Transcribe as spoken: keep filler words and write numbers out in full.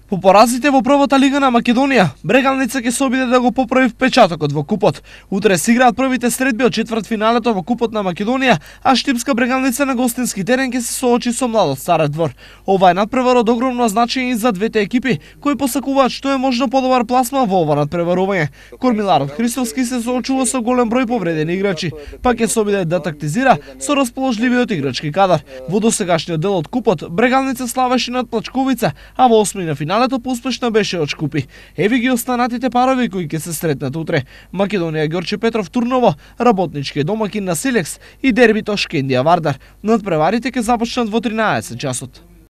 По поразите во првата лига на Македонија, Брегалница ќе се обиде да го поправи впечатокот во купот. Утре се играат првите средби од четвртфиналето во купот на Македонија, а Штипска Брегалница на гостински терен ќе се соочи со Младот Стар Двор. Ова е надпревар од огромно значење и за двете екипи, кои посакуваат што е можно подобар пласма во ова надпреварување. Кормиларот Христовски се соочува со голем број повредени играчи, па ќе се обиде да тактизира со расположливиот играчки кадар. Во досегашниот дел од купот, Брегалница славеше над Плачковица, а во осмини на финалето поуспешно беше од Шкупи. Еви ги останатите парови кои ќе се сретнат утре. Македонија Ѓорче Петров Турново, работнички домакин на Силекс и дербито Шкендија Вардар. Надпреварите ќе започнат во тринаесет часот.